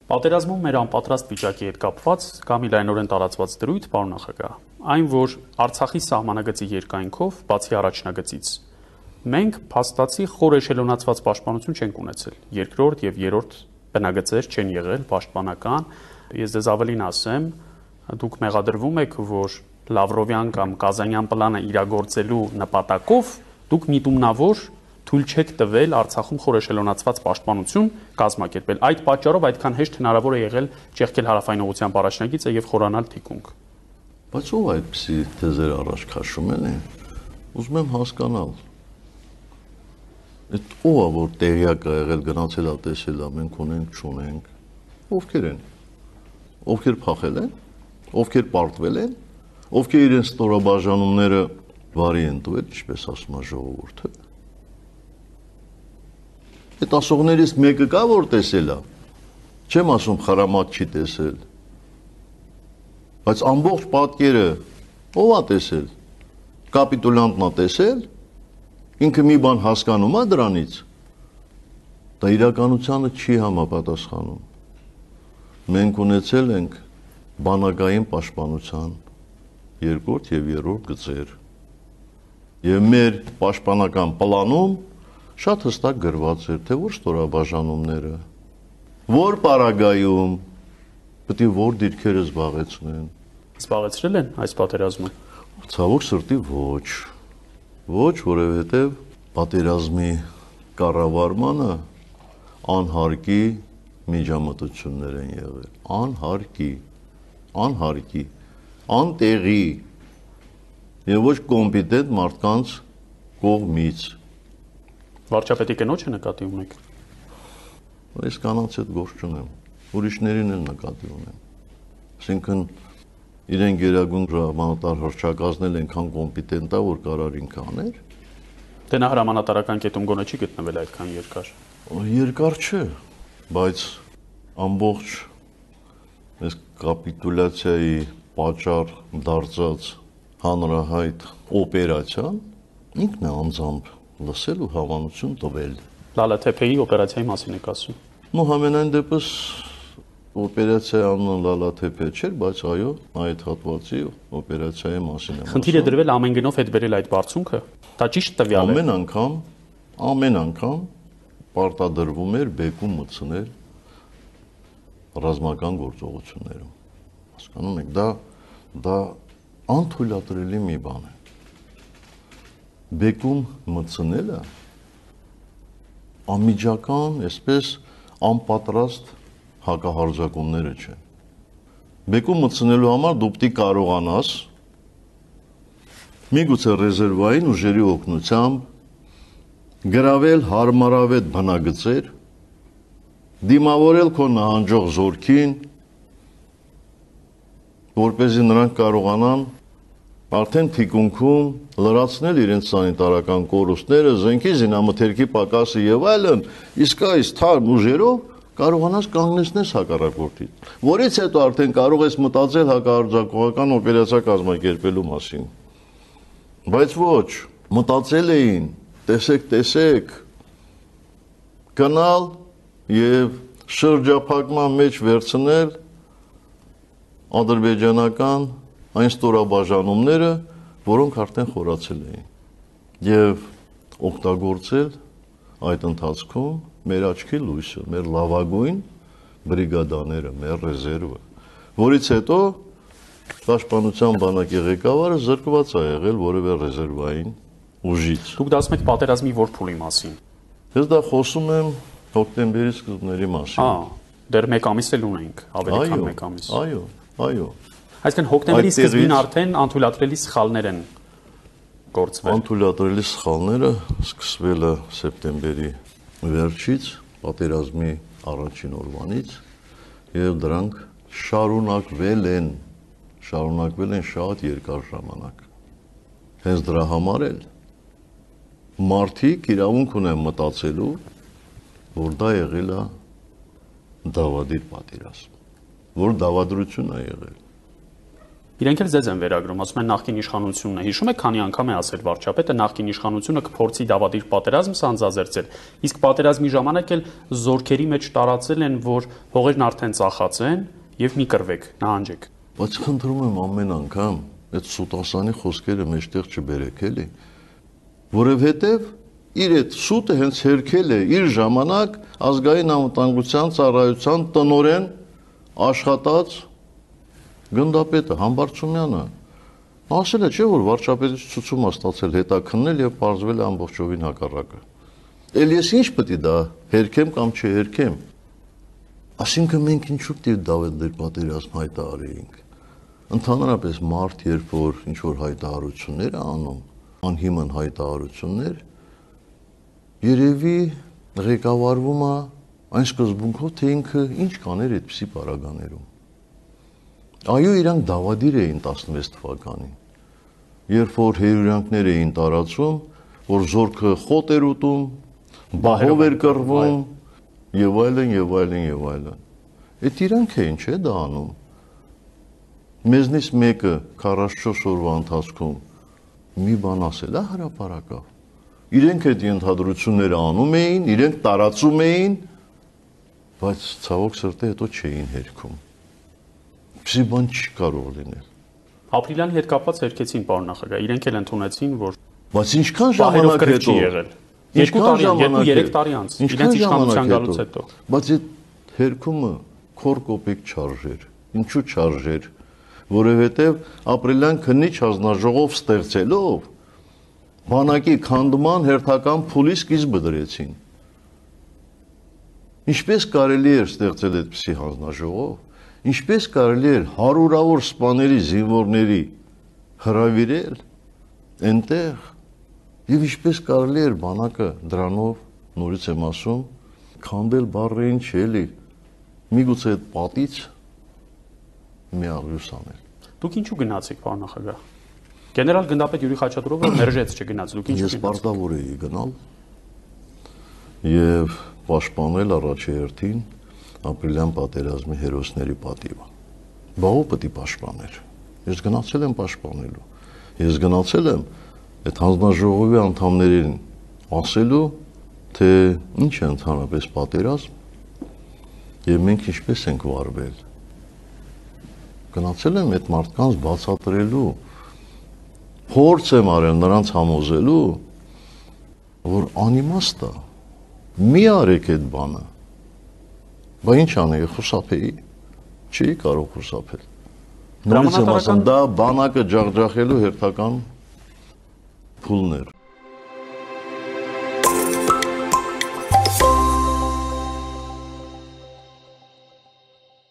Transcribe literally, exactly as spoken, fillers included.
Պատերազմում մեր անպատրաստ վիճակի հետ կապված կամ լայնորեն տարածված դրույթ, պարոն նախագահ, այն, որ Արցախի սահմանագծի երկայնքով, բացի առաջնագծից, մենք փաստացի խոր էշելոնացված պաշտպանություն չենք ունեցել։ Երկրորդ եւ երրորդ բնագծեր չեն եղել պաշտպանական։ Ես դες ավելին ասեմ, դուք մեղադրվում եք, որ Լավրովյան կամ Կազանյան պլանը իրագործելու նպատակով դուք միտումնավոր թույլ չեք տվել Արցախում խոր էշելոնացված պաշտպանություն կազմակերպել։ Այդ պատճառով այդքան հեշտ հնարավոր է եղել ճեղքել հարավային ուղղությամբ առաջնագիծը եւ խորանալ թիկունք։ Բայց ով այդպիսի թեզեր առաջ քաշում են, ուզում եմ հասկանալ։ Այդ ով է, որ տեղյակ է եղել, գնացել է, տեսել է, մենք ունենք, չունենք։ Ովքեր են։ Ովքեր փախել են, ովքեր պարտվել են, ովքեր իրենց ստորաբաժանումները վարի են տվել, ինչպես ասում է ժողովուրդը։ Այդ ասողներից մեկը կա, որ տեսել է։ Չեմ ասում խրամատ չի տեսել։ Բայց ամբողջ պատկերը ով է տեսել։ Կապիտուլյանտն է տեսել։ Ինքը մի բան հասկանում է դրանից։ Դա իրականությանը չի համապատասխանում։ Մենք ունեցել ենք բանակային պաշտպանության երկրորդ եւ երրորդ գծեր։ Եվ մեր պաշտպանական պլանում շատ հստակ գրված էր, թե որ ստորաբաժանումները, որ պարագայում պետք է որ դիրքերը զբաղեցնեն։ Զբաղեցրել են այս պատերազմը։ Ցավոք սրտի ոչ։ Ոչ, որովհետև պատերազմի կառավարմանը անհարկի միջամտություններ են եղել։ Անհարկի, անհարկի, անտեղի եւ ոչ կոմպետենտ մարդկանց կողմից։ Վարչապետի կնոջը նկատի ունեք։ Ես կանանց հետ գործ չունեմ, ուրիշներին էլ նկատի ունեմ։ Այսինքն իրեն գերագույն հրամանատար հռչակազնել այնքան կոմպետենտ է, որ կարար ինքը աներ։ Դե նա հրամանատարական կետում գոնե չի գտնվել այդքան երկար։ Երկար չէ, բայց ամբողջ այս կապիտուլյացիայի պատճառ դարձած հանրահայտ օպերացիան ինքն է անձամբ լսել ու հավանություն տվել։ Լալաթեփեի օպերացիայի մասին եք ասում։ Ну համենայն դեպս օպերացիայի անունը Լալաթեփե չէր, բայց այո, այդ հատվածի օպերացիայի մասին եմ ասում։ Խնդիրը դրվել ամեն գնով հետ բերել այդ բարձունքը։ Դա ճիշտ տվյալ է։ Ամեն անգամ, ամեն անգամ պարտադրվում էր բեկում մտցնել ռազմական գործողություններում։ Հասկանում եք, դա դա անթույլատրելի մի բան է։ Բեկում մտցնելը անմիջական, այսպես անպատրաստ հակահարձակումները չեն։ Բեկում մտցնելու համար դու պետք է կարողանաս միգուցե ռեզերվային ուժերի օգնությամբ գրավել հարմարավետ բնագծեր, դիմավորել քո նահանջող զորքին, որպեսզի նրանք կարողանան արդեն թիկունքում լրացնել իրենց սանիտարական կորուստները, զենքի զինամթերքի պակասը եւ այլն, իսկ այս թարմ ուժերով կարողանաս կանգնեցնես հակառակորդին, որից հետո արդեն կարող ես մտածել հակահարձակողական օպերացիա կազմակերպելու մասին։ Բայց ոչ, մտածել էին, տեսեք, տեսեք, գնալ եւ շրջափակման մեջ վերցնել ադրբեջանական այն ստորաբաժանումները, որոնք արդեն խորացել էին եւ օգտագործել այդ ընթացքում մեր աչքի լույսը, մեր լավագույն բրիգադաները, մեր ռեզերվը, որից հետո պաշտպանության բանակի ղեկավարը զրկված է եղել որևէ ռեզերվային ուժից։ Դուք դա ասում եք պատերազմի որ փուլի մասին։ Ես դա խոսում եմ հոկտեմբերի սկզբների մասին։ Ահա, դեռ մեկ ամիս էլ ունենք, ավելի քան մեկ ամիս։ Այո, այո։ Այսինքն հոկտեմբերի սկզբին արդեն անթույլատրելի սխալներ են գործվել։ Անթույլատրելի սխալները սկսվել է սեպտեմբերի վերջից, պատերազմի առաջին օրվանից, եւ դրանք շարունակվել են, շարունակվել են շատ երկար ժամանակ։ Հենց դրա համար էլ մարդիկ իրավունք ունեն մտածելու, որ դա եղել է դավադիր պատերազմ, որ դավադրություն է եղել։ Իրենք էլ ձեզ են վերագրում, ասում են նախկին իշխանությունն է։ Հիշում եք, քանի անգամ է ասել վարչապետը, նախկին իշխանությունը կփորձի դավադիր պատերազմ սանձազերծել, իսկ պատերազմի ժամանակ էլ զորքերի մեջ տարածել են, որ հողերն արդեն ծախած են եւ մի կռվեք, նահանջեք։ Բայց խնդրում եմ ամեն անգամ այդ սուտասանի խոսքերը մեջտեղ չբերեք, էլի, որովհետեւ իր այդ սուտը հենց հերքել է իր ժամանակ ազգային անվտանգության ծառայության տնօրեն աշխատած գնդապետը Համբարձումյանը ասել է, չէ՞ որ վարչապետից ցուցում է ստացել հետաքննել եւ բարձվել է ամբողջովին հակառակը։ Էլ ես ինչ պետք է դա հերքեմ կամ չհերքեմ։ Այսինքն մենք ինչու պետք է դավադիր պատերազմ հայտարարեինք։ Ընդհանրապես մարդ երբ որ ինչ որ հայտարարություններ է անում, անհիմն հայտարարություններ, երևի ղեկավարվում է այն սկզբունքով, թե ինքը ինչ կաներ այդպիսի պարագաներում։ Այո, իրանք դավադիր էին տասնվեց թվականին, երբ որ հերյուրանքներ էին տարածում, որ զորքը խոտ էր ուտում, բահով էր կռվում, եւ այլն, եւ այլն, եւ այլն։ Այդ իրանք էին, չէ՞ դա անում։ Մեզնից մեկը քառասունչորս օրվա ընթացքում մի բան ասել է հրապարակավ։ Իրենք այդ ընդհանրությունները անում էին, իրենք տարածում էին, բայց ցավոք սրտի հետո չէին հերքում։ Պսի բան չի կարող լինել։ Ապրիլյանի հետ կապված հերքեցին, պարոն նախագահ, իրենք էլ ընդունեցին, որ բայց ինչքան ժամանակ հետո եղել։ Երկու տարի, երկու-երեք տարի անց, իրենց իշխանության գալուց հետո։ Բայց այդ հերքումը քոր կոպեկ չարժեր։ Ինչու չարժեր։ Որովհետև ապրիլյան քննիչ հանձնաժողով ստեղծելով բանակի քանդման հերթական փուլի սկիզբը դրեցին։ Ինչպես կարելի էր ստեղծել այդպիսի հանձնաժողով, ինչպես կարելի էր հարյուրավոր սպաների, զինվորների հրավիրել այնտեղ, եւ ինչպես կարելի էր բանակը դրանով, նորից եմ ասում, քանդել բառերին չի էլի, միգուցե այդ պատից մի աղյուս անել։ Դուք ինչու գնացիք, պարոն նախագահ։ Գեներալ գնդապետ Յուրի Խաչատրովը մերժեց չգնաց, դուք ինչու։ Ես պարտավոր էի գնալ եւ պաշտպանել առաջի հերթին ապրիլյան պատերազմի հերոսների պատիվը։ Բա ո՞վ պետք է պաշտպաներ։ Ես գնացել եմ պաշտպանելու։ Ես գնացել եմ այդ հանձնաժողովի անդամներին ասելու, թե ինչ է ընդհանրապես պատերազմ եւ մենք ինչպես ենք վարվել։ Գնացել եմ այդ մարդկանց բացատրելու, փորձ եմ արել նրանց համոզելու, որ անիմաստ է, մի արեք այդ բանը։ Բա ինչ անեի, խուսափեի, չի կարող խուսափել։ Նորից եմ ասում, դա բանակը ջախջախելու հերթական փուլներ։